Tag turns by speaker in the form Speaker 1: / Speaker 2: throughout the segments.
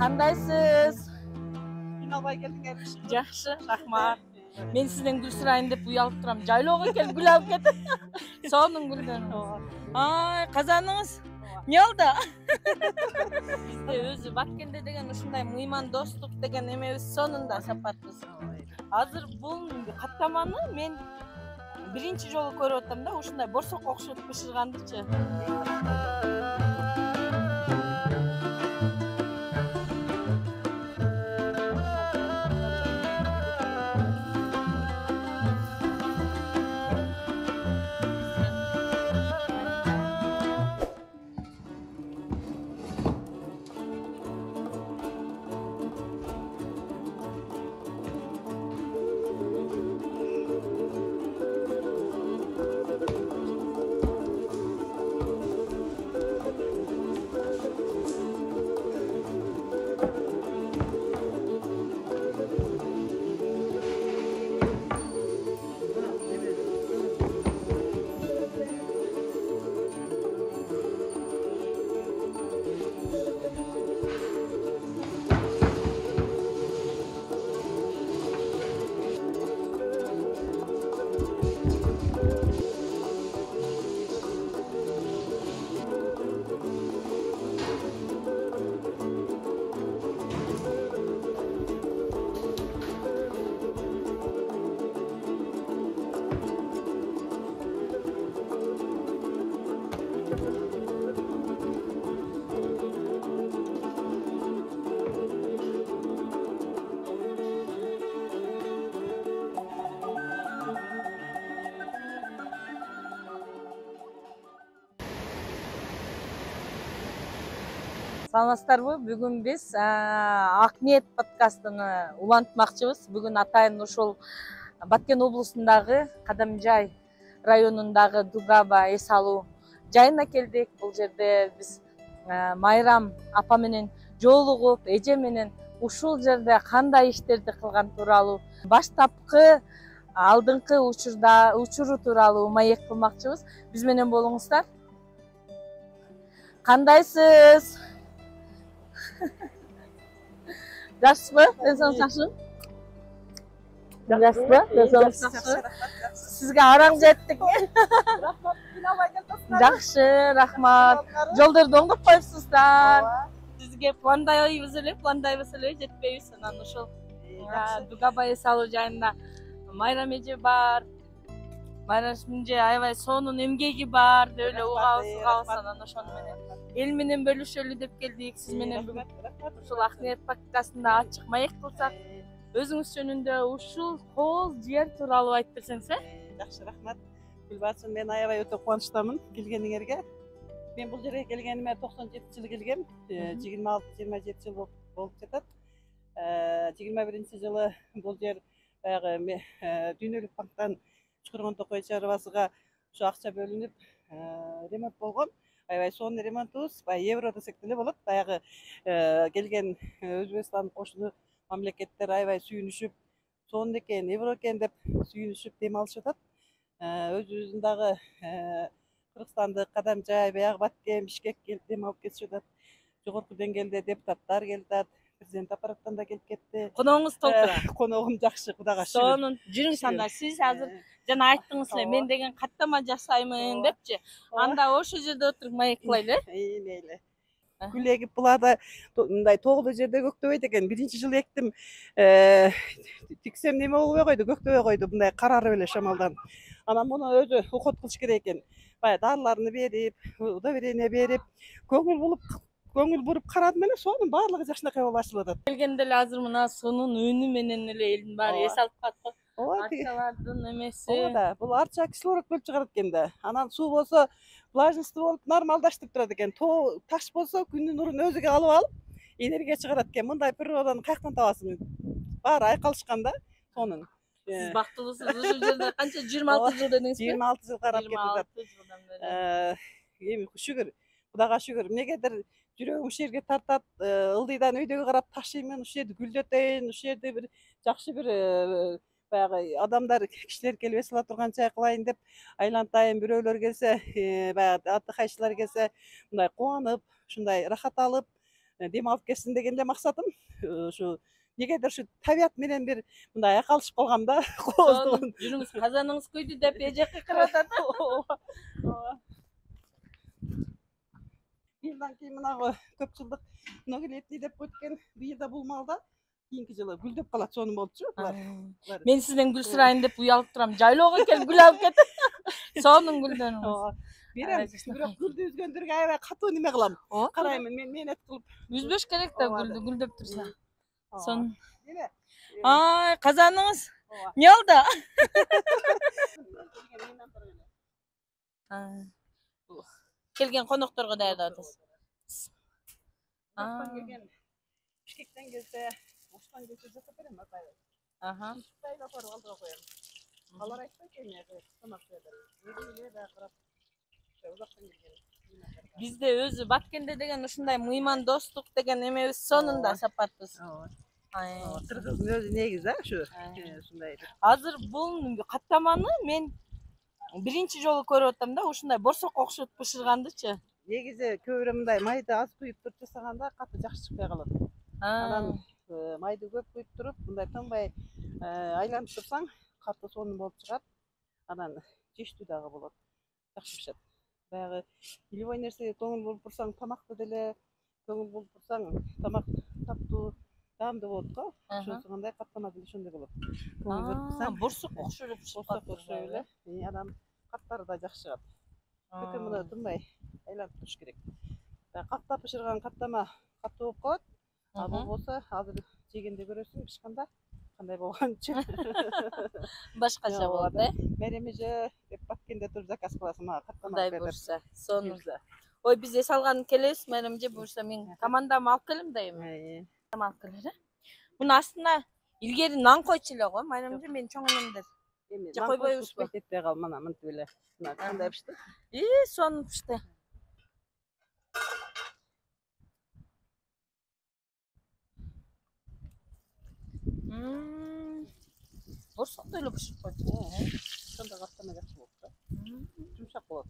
Speaker 1: Кандайсыз?
Speaker 2: Кыйналбай келдиңерби?
Speaker 1: Жакшы, рахмат. Мен сизден гүл сурайын деп уялып турам. Жайлоого келип гүл алып кетип. Сонун гүлдөн. Ай, казаныңыз эмне болду? Бизде өзү Баткенде деген ушундай мыйман достук деген эмебиз сонунда сапатыбыз. Азыр бул каттаманы мен биринчи жолу көрүп атам да, ушундай борсокко окшотуп бышыргандычы. Саламатсыздарбы? Бүгүн биз Ак ниет подкастын улантмакчыбыз. Бүгүн атайын ушул Баткен облусундагы Кадамжай районундагы Дугаба эс алуу жайына келдик. Бул жерде биз Майрам апа менен жолугуп, эже менен ушул жерде кандай иштерди кылган тууралуу, баштапкы алдыңкы учуру тууралуу маек кылмакчыбыз. Биз менен болуңуздар. Кандайсыз? Жакшысызбы? Денсаулык жакшымы? Жакшысызбы? Денсаулык жакшы. Сизге араң жеттик.
Speaker 2: Рахмат, кыйналбай келипсиздер.
Speaker 1: Жакшы, рахмат. Жолдорду оңдоп коюпсуздар. Сизге пландайбыз эле жетпейбиз. Анан ошол Дугаба эс алуу жайында Майрам эже бар. Майрам эже аябай сонун эмгеги бар деп эле угабыз. Анан ошону менен эл менен бөлүшөлү деп келдик. Сиз менен бүгүн ушул Ак ниет подкастында ачык маек кылсак, өзүңүз жөнүндө ушул кооз жер тууралуу айтып берсеңиз.
Speaker 2: Жакшы, рахмат. Гүлбарчын, мен аябай өтө кубанычтамын келгениңерге. Мен бул жерге келгениме 97-жылы келгем. 26-27 жыл болуп жатат. 21-жылы бул жер баягы Дүйнөлүк банктан Чукургон Токой чарбасыга ушу акча бөлүнүп ремонт болгон. Аябай сонун ремонтубуз, евро десек деле болот. Баягы келген Өзбекстан кошуну мамлекеттер аябай сүйүнүшүп, сонун экен, евро экен деп сүйүнүшүп дем алышып атат. Өзүбүздүн дагы Кыргызстандык Кадамжай, баягы Баткен, Бишкек келип дем алып кетишип атат. Жогорку деңгээлде депутаттар келип атат, президент аппараттан да келип кетти.
Speaker 1: Коногуңуз толтура.
Speaker 2: Коногум жакшы, Кудайга шүгүр.
Speaker 1: Сонун. Жүрүңүз анда. Сиз азыр жана айттыңыз эле, мен деген каттама жасаймын депчи. Анда ошол жерде отуруп маек кылайлы.
Speaker 2: Мейли. Гүл эгип буларда мындай тоолуу жерде көктөбөйт экен. Биринчи жылы эктим. Тиксем неме болбой койду, көктөбөй койду, мындай карарып эле шамалдан. Анан муну өзү уход кылыш керек экен. Баягы дарыларын берип, удобрение берип, көңүл буруп карадым эле, сонун баардыгы жакшынакай болуп ачылып атат.
Speaker 1: Келгенде эле азыр мына сонун өнү менен эле элдин баары эс алып калат. Арчалардын эмеси.
Speaker 2: Ооба, бул арча кислород бөлүп чыгарат экен да. Анан суу болсо влажность болуп нормалдаштырып турат экен. Тоо таш болсо күндүн нурун өзүгө алып алып, энергия чыгарат экен. Мындай природаны каяктан табасың? Баары айкалышкан да, сонун.
Speaker 1: Сиз бактылуусуз. Ушул жерде канча 26 жыл дедиңиз?
Speaker 2: 26 жыл карап кетип. Эми шүгүр, Кудайга шүгүр. Эмнегедир жүрөгүм ушул жерге тартат, ылдыйдан өйдөгө карап ташыймын, ушул жерди гүлдөтөйүн, ушул жерде бир жакшы бир баягы адамдар, кишилер келип эс ала турган жай кылайын деп айлантайын. Бирөөлөр келсе, баягы отдыхающийлар келсе, мындай кубанып, ушундай рахат алып, дем алып кетсин деген эле максатым. Ушу негедир ушу табият менен бир мындай айкалышып калгам да.
Speaker 1: Жүрүңүз, казаныңыз күйдү деп эжекке кырып атат.
Speaker 2: Быйылдан кийин мынагы көп жылдык многолетний деп өткөн быйылда бул малда кийинки жылы гүлдөп калат, сонун болчу.
Speaker 1: Мен сизден гүл сурайын деп уялып турам. Жайлоого келип гүл алып кетип. Сонун гүлдөрүңүз.
Speaker 2: Берем, бирок гүлдү үзгөндөргө аябай катуу неме кылам. Караймын, мен менет кылып.
Speaker 1: Үзбөш керек да гүлдү, гүлдөп турса. Сонун. Ай, казаныңыз. Не oldu? Келген конокторго даярдап атасыз.
Speaker 2: Бишкектен келсе, Оштан келсе жасап берем атайын.
Speaker 1: Аха.
Speaker 2: Тайла барып алдыра коем. Алар айтпай келме, тамак берем. Өзү да карап. Узактан келген.
Speaker 1: Бизде өзү Баткенде деген ушундай мыйман достук деген эмебиз сонунда сапатпыз.
Speaker 2: Кыргыздын өзү негизи ушу. Ушундай.
Speaker 1: Азыр бул каттаманы мен биринчи жолу көрүп атам да, ушундай борсокко окшотуп бышыргандычы.
Speaker 2: Негизи көбүрөөк мындай майды аз куюп туруп жасаганда катты жакшы чыкпай калат. Анан майды көп куюп туруп, мындай тынбай айланып турсаң, катты сонун болуп чыгат. Анан жештүү дагы болот. Жакшы пишет. Баягы любой нерсеге көңүл буруп турсаң, тамакты деле көңүл буруп турсаң, тамак таптуу, таамдуу болот го. Ошонсу кандай каттама деле ошондой болот.
Speaker 1: Борсок окшоп
Speaker 2: эле. Анан каттары да жакшы чыгат. Бүтүн муну тынбай айланып туруш керек. Каттап бышырган каттама каттуу болуп калат. А болбосо азыр жегенде көрөсүң, бышканда кандай болгончу.
Speaker 1: Башкача болот,
Speaker 2: Меремеже деп Баткенде туруп заказ кыласың, мага каттама
Speaker 1: кандай бурса, сонун. Ой, биз эс алган келебиз, меремеже бурса мен командамы алып келем да эми. Алып келер. Мунун астына илгери нан койчу эле го, меремеже мен чоң энемдер.
Speaker 2: Же койбойбузбу? Кетпей кал, мына мынтип эле. Мына кандай пишти?
Speaker 1: Сонун пишти. Борсокто эле бышырып койду.
Speaker 2: Сонда каттама жакшы болуп да. Жумшак болот.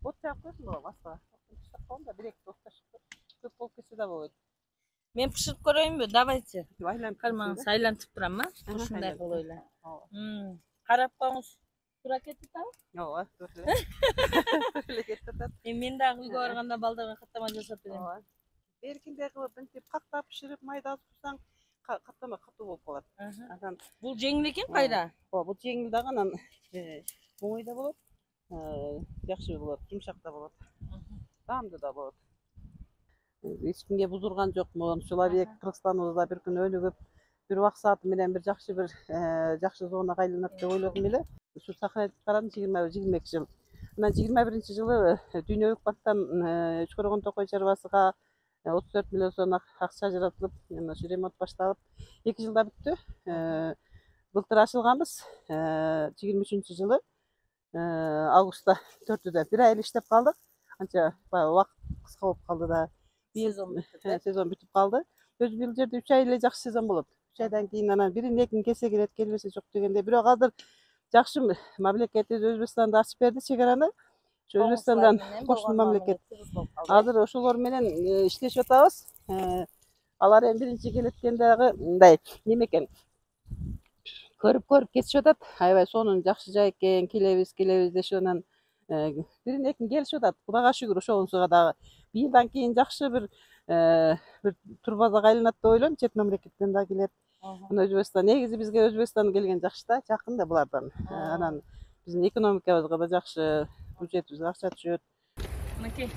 Speaker 2: Бот жаап койсуң го баска. Жумшак болгондо бир-эки бот ташып көп болуп кетсе да болот.
Speaker 1: Мен пышырып көрөйүнбү? Давайте.
Speaker 2: Айланып
Speaker 1: кармаңыз, айлантып турам, ушундай кылып эле. Карап коңуз. Туура кетип атабы?
Speaker 2: Ооба, туура эле кетип атат.
Speaker 1: Мен дагы үйгө барганда балдарга каттама жасап берем.
Speaker 2: Беркиндей кылып мынтип каттап бышырып майда турсаң, каттама катуу болуп калат. Анан
Speaker 1: бул жеңил экен кайра?
Speaker 2: Ооба, бул жеңил дагы анан оңой да болот. Жакшы болот, жумшак да болот. Таамдуу да болот. Эч кимге бузурган жокмун. Человек Кыргызстаныбызда бир күн өнүгүп, бир убак сааты менен бир жакшы зонага айланат деп ойлодум эле. Ушу сохранить карадым 22 жыл. Анан 21-жылы Дүйнөлүк банктан Үчкөргөн Токой чарбасыга 34 миллион сом акча ажыратылып, ошо ремонт башталып, 2 жылда бүттү. Былтыр ачылганбыз. 23-жылы августта 4-дө бир ай иштеп калдык. Анча убакыт кыска болуп калды да. Сезон бүтүп калды. Өзү бул жерде 3 ай эле жакшы сезон болот. 3 айдан кийин анан бирин экин келсе келет, келбесе жок дегенде. Бирок азыр жакшы мамлекетибиз Өзбекстанда ачып берди чегараны. Өзбекстандан кошуна мамлекет. Азыр ошолор менен иштешип атабыз. Алар эми биринчи келеткендеги мындай неме экен. Көрүп кетишип атат. Аябай сонун жакшы жай экен, келебиз дешип анан бирин экин келишип атат. Кудайга шүгүр, ошонусуга дагы быйылдан кийин жакшы бир турбазага айланат деп ойлойм. Чет мамлекеттен да келет. Өзбекстан негизи бизге Өзбекстан келген жакшы да, жакын да булардан. Анан биздин экономикабызга да жакшы, бюджетибизге акча түшөт.
Speaker 1: Мынакей,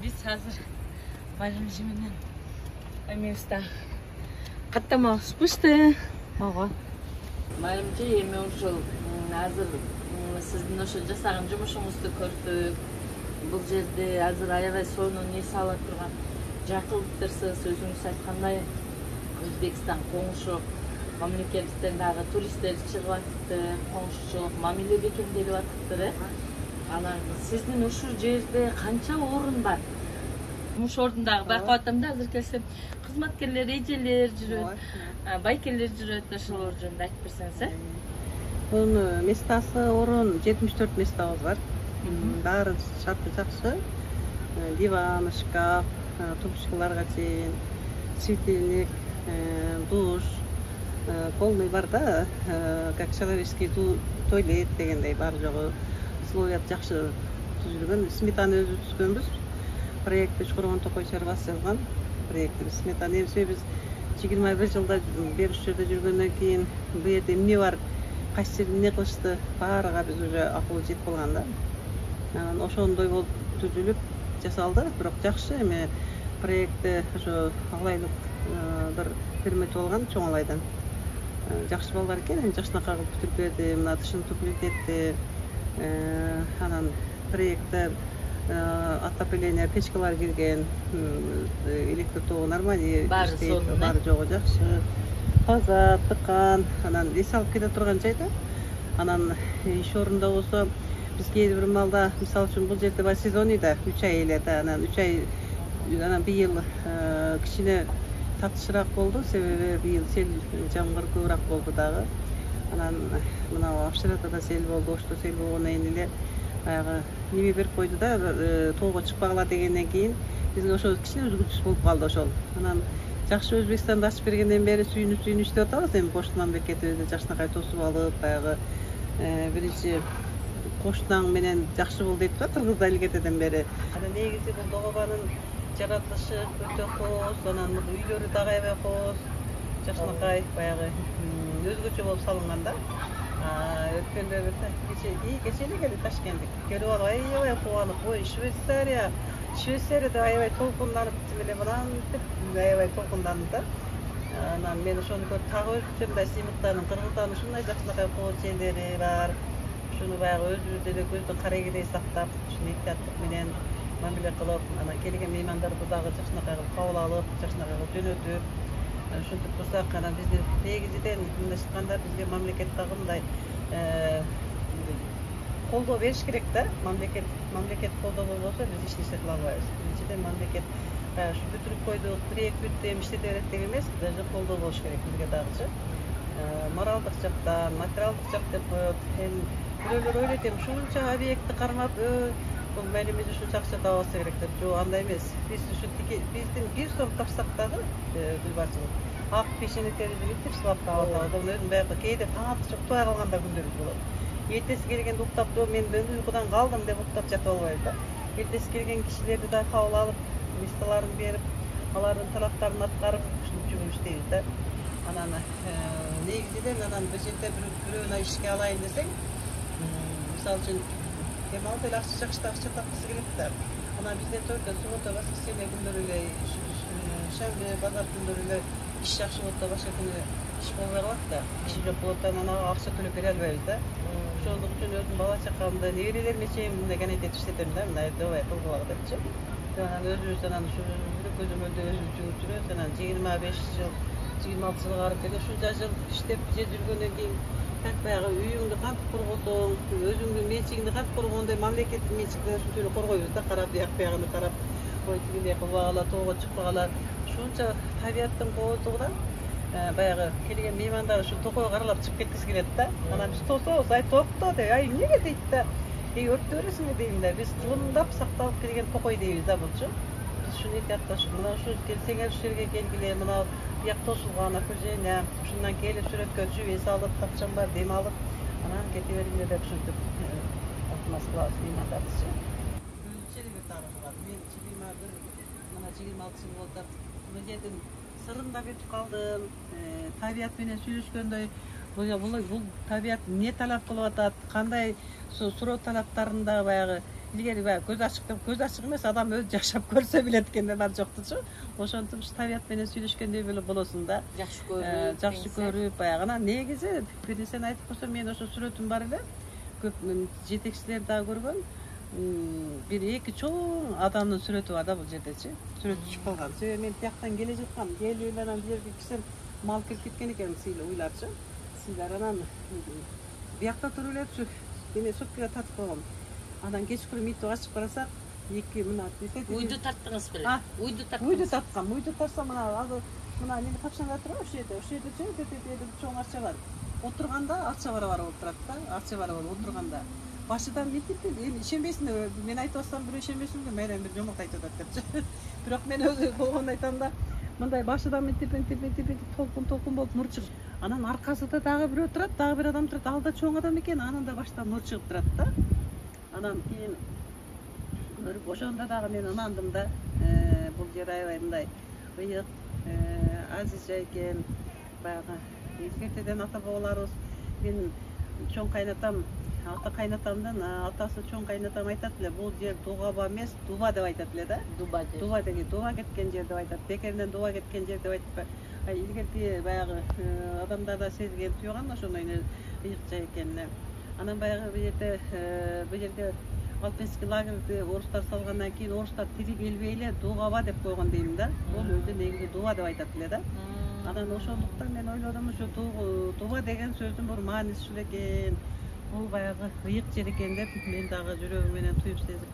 Speaker 1: биз азыр Майрамжи менен эмебизде каттамабыз пышты.
Speaker 2: Ооба.
Speaker 1: Майрамжи эми ошол азыр сиздин ошо жасаган жумушуңузду көрдүк. Бул жерде азыр аябай сонун эс ала турган жакылыктырсыз, өзүңүз айткандай Өзбекстан коңшу мамлекеттен дагы туристтер чыгып атыптыр, коңшучулук мамиле бекемделип атыптыр. Анан сиздин ушул жерде канча орун бар? Жумуш ордундагы байкап атам да, азыр келсем кызматкерлер, эжелер жүрөт, байкелер жүрөт, ошолор жөнүндө айтып берсеңиз.
Speaker 2: Бунун местасы орун 74 местабыз бар. Баары шарты жакшы. Диван, шкаф, трубочкаларга чейин светильник, душ, полный бар да, как человеческий туалет дегендей бар жогу условия жакшы түзүлгөн. Сметаны өзү түзгөнбүз. Проектти Чукургон Токой чарбасы жазган проектибиз. Сметаны эми биз 21 жылда бери ушул жерде жүргөндөн кийин бу жерде эмне бар, кайсы жерде эмне кылышты баарыга биз уже акыл жетип калган да. Ошондой болуп түзүлүп жасалды. Бирок жакшы эми проектти ошо алайлык бир пермет болгон чоң алайдан. Жакшы балдар экен, эми жакшынакай кылып бүтүрүп берди. Мына тышын туплить этти. Анан проектте отопление печкалар кирген, электр тогу нормально иштейт, баары жогу жакшы. Таза, тыкан, анан эс алып кете турган жайда. Анан иш орунда болсо биз кээ бир маалда, мисалы үчүн бул жерде бар сезоны да 3 ай эле да, анан 3 ай анан быйыл кичине татышыраак болду, себеби быйыл сел жамгыр көбүрөөк болду дагы. Анан мына Австриядада сел болду, Ошто сел болгондон кийин эле баягы неме берип койду да, тоого чыкпагыла дегенден кийин бизге ошо кичине өзгөчөсү болуп калды ошол. Анан жакшы Өзбекстанды ачып бергенден бери сүйүнүп иштеп атабыз. Эми кош мамлекетибизди жакшынакай тосуп алып, баягы биринчи коштунаң менен жакшы болду дейт да, кыргызда илгертеден бери. Анан негизи бул догобанын жаратылышы өтө кооз, анан үйлөрү дагы аябай кооз, жакшынакай баягы өзгөчө болуп салынган да. Өткөндө кече эле келди Ташкенттик. Көрүп алып аябай кубанып, ой, Швейцарияда аябай толкунданып, эле мынантип аябай толкунданды да. Анан мен ошону көрүп так өзүмчө мындай сыймыктанып, Кыргызстандын ушундай жакшынакай кооз жерлери бар. Ушуну баягы өзүбүз эле көздүн карегидей сактап, ушуну эhtiyаттык менен мамиле кылып, анан келген меймандарды дагы жакшынакай кылып кабыл алып, жакшынакай кылып жөнөтүп, ушинтип турсак, анан биздин негизиден мындайча айтканда бизге мамлекет дагы мындай колдоо бериш керек да. Мамлекет колдоо болбосо биз эч нерсе кыла албайбыз. Биринчиден мамлекет ушу бүтүрүп койдук, проект бүттү, эми иштете берет деген эмес, даже колдоо болуш керек бизге дагычы. Моралдык жактан, материалдык жак деп коет. Эми бирөөлөр ойлойт, эми ушунча объектти кармап, бул мээлимиз ушунча акча табылса керек деп. Жок, андай эмес. Биз биздин 1 сом тапсак дагы гүлбарчылык ак печенектерди бүтүп сылап таап атабыз. Өзүм баягы кээде таң атып уктабай калганда күндөрүбүз болот. Эртеси келгенде уктап, мен уйкудан калдым деп уктап жатып албайбыз да. Эртеси келген кишилерди да кабыл алып, листаларын берип, алардын талаптарын аткарып, ушинтип жүрүп иштейбиз да. Анан негизинен анан бир жерде бирөөнү ишке алайын десең, мисалы үчүн демалып эле акча тапкысы келет да. Анан бизде только суббота, воскресенье күндөрү эле, шемби, базар күндөрү эле иш жакшы болот да, башка күнү иш болбой калат да. Иш жок болот да, анан акча төлөп бере албайбыз да. Ошондук үчүн өзүм бала чакамды, неберелериме чейин мындай гонять иштетем да, мындай давай кылгыла депчи. Анан өзүбүз анан ушу көзөмөлдө өзүбүз жууп жүрөбүз. Анан 25 жыл, 26 жылга барып келе ушунча жыл иштеп жүргөндөн кийин как баягы үйүңдү кантип коргосоң, өзүңдүн менчигиңди кантип коргогондой мамлекеттин менчигин ушунча эле коргойбуз да, карап биягына карап, ой тигине кылбагыла, тоого чыкпагыла. Ушунча табияттын кооздугунан баягы келген меймандар ушу токойго каралап чыгып кеткиси келет да. Анан биз тособуз, ай токто деп, ай эмнеге дейт да. Өрттөп бересиңби дейм да. Биз тылымдап сакталып келген токой дейбиз да булчу. Биз ушуну эhtiyатташып, мына ушу келсеңер ушул жерге келгиле, мына бияк тосулган окружение, ушундан келип сүрөткө түшүп, эс алып, тапчан бар, дем алып, анан кете бериңер деп ушинтип алтымас кылабыз меймандардычы. Өзүнчө эле бир тарыхы бар. Мен чыгыйма бир мына 26 жыл болду. Бул жердин сырын да билип калдым. Табият менен сүйлөшкөндөй, бул табият эмне талап кылып атат, кандай суроо талаптарында баягы илгери баягы көз ачык эмес, адам өзү жашап көрсө билет экенде бар жоктучу. Ошентип табият менен сүйлөшкөндөй болосуң да. Жакшы көрүп баягы. Анан негизи бир нерсени айтып койсом, мен ошо сүрөтүм бар эле. Көп жетекчилер дагы көргөн. Бир эки чоң адамдын сүрөтү бар да бул жердечи. Сүрөт түшүп калган. Себеби мен тияктан келе жаткам, келип эле анан бул жерге кирсем мал кирип кеткен экен, уйларчы. Силер анан биякта туруп эле эме соткага татып койгом. Анан кечкурун митип ачып карасак, эки мына
Speaker 1: уйду тарттыңыз беле? Уйду
Speaker 2: тарткам. Уйду тарсам мына неме тапшаңдар турабы ушул жерде чоң арча бар. Отурганда арча барабар болуп турат да, арча барабар отурганда. башыдан мынтип эми ишенбейсиң, мен айтып атсам бирөө ишенбесин да майрам бир жомок айтып атат депчи. Бирок мен өзү болгону айтам да, мындай башыдан мынтип толкун болуп нур чыгып, анан аркасында дагы бирөө турат, дагы бир адам турат, ал да чоң адам экен, анан да баштан нур чыгып турат да. Анан кийин көрүп ошондо дагы мен ынандым да. Бул жер аябай мындай ыйык, азизжа экен. Баягы илгертеден ата бабаларыбыз, менин чоң кайнатам, ата кайнатамдын атасы чоң кайнатам айтат эле, бул жер Дугаба эмес, Дуба деп айтат эле да.
Speaker 1: Дуба деп.
Speaker 2: Дуба деген дуба кеткен жер деп айтат. Бекеринен дуба кеткен жер деп айтпай, илгерки баягы адамдар да сезген туйган ошондой ыйыкча экенин. Анан баягы бул жерге Алпинский лагерьди орустар салгандан кийин орустар тири келбей эле Дугаба деп койгон дейм да. Бул өзү негизи Дуба деп айтат эле да. Анан ошондуктан мен ойлодум, ушу Дуба деген сөздүн бир мааниси ушул экен. Бул баягы ыйык жер экен деп мен дагы жүрөгүм менен туюп сезип,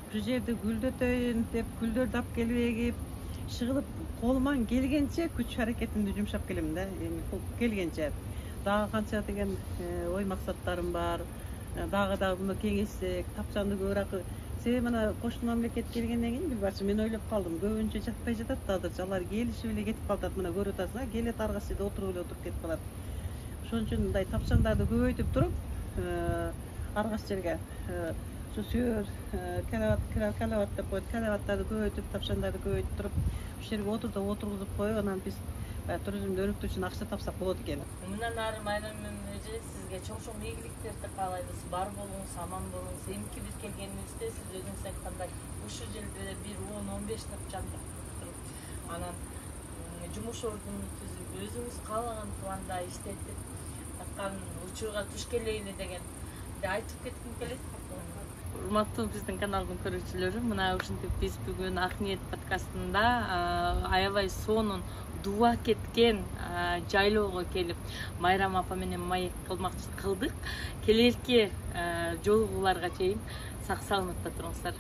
Speaker 2: ушул жерди гүлдөтөйүн деп гүлдөрдү алып келип эгип, шыгылып колуман келгенче күч аракетимди жумшап келем да, эми келгенче. Дагы канча деген ой максаттарым бар. Дагы муну кеңейтсек, тапчанды көбүрөөк. Себеби мына кошмо мамлекет келгенден кийин билбачы мен ойлоп калдым, көбүнчө жатпай жатат да азырчы, алар келишип эле кетип калат. Мына көрүп атасың, келет ар кайсы жерде отуруп кетип калат. Ошон үчүн мындай тапчандарды көбөйтүп туруп, ар кайсы жерге ушу сүйөр калават деп коет, калаваттарды көбөйтүп, тапчандарды көбөйтүп туруп, ушул жерге отургузуп коюп, анан биз туризмди өнүктүрүү үчүн акча тапсак болот экен.
Speaker 1: Мындан ары Майрам эже сизге чоң ийгиликтерди каалайбыз. Бар болуңуз, аман болуңуз. Эмки биз келгенибизде сиз өзүңүз айткандай ушул жерде бир 10-15 тапчан туруп, анан жумуш ордуну түзүп, өзүңүз каалаган планда иштетип, аткан учурга туш келели дегенди айтып кетким келет. Урматтуу биздин каналдын көрүүчүлөрү, мына ушинтип биз бүгүн Ак ниет подкастында аябай сонун дуба кеткен жайлоого келип Майрам апа менен маек кылмакчы кылдык. Келерки жолугууларга чейин сак саламатта туруңуздар.